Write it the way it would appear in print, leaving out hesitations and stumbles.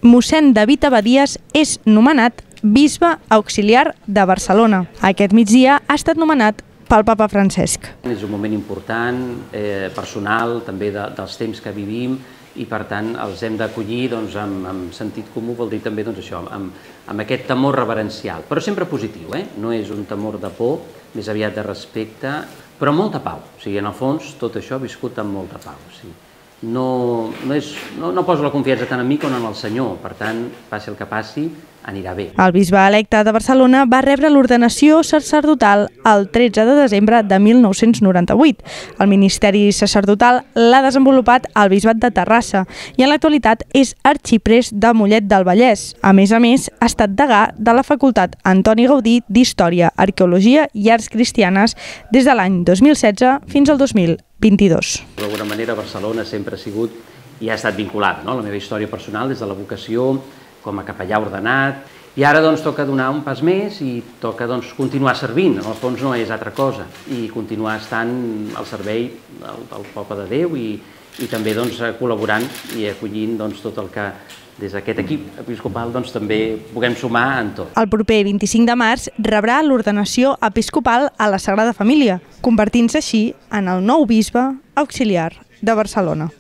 mossèn David Abadías és nomenat bisbe auxiliar de Barcelona. Aquest migdia ha estat nomenat pel papa Francesc. És un moment important, personal, també dels temps que vivim, i per tant els hem d'acollir amb sentit comú, vol dir també això, amb aquest temor reverencial, però sempre positiu, no és un temor de por, més aviat de respecte, però amb molta pau. O sigui, en el fons, tot això viscut amb molta pau. No poso la confiança tant en mi com en el Senyor, per tant, passi el que passi, anirà bé. El bisbe electe de Barcelona va rebre l'ordenació sacerdotal el 13 de desembre de 1998. El ministeri sacerdotal l'ha desenvolupat el bisbat de Terrassa i en l'actualitat és arxiprest de Mollet del Vallès. A més, ha estat degà de la Facultat Antoni Gaudí d'Història, Arqueologia i Arts Cristianes des de l'any 2016 fins al 2022. D'alguna manera, Barcelona sempre ha sigut i ha estat vinculada a la meva història personal des de la vocació com a capellà ordenat, i ara toca donar un pas més i toca continuar servint, en el fons no és altra cosa, i continuar estant al servei del poble de Déu i també col·laborant i acollint tot el que des d'aquest equip episcopal també puguem sumar en tot. El proper 25 de març rebrà l'ordenació episcopal a la Sagrada Família, convertint-se així en el nou bisbe auxiliar de Barcelona.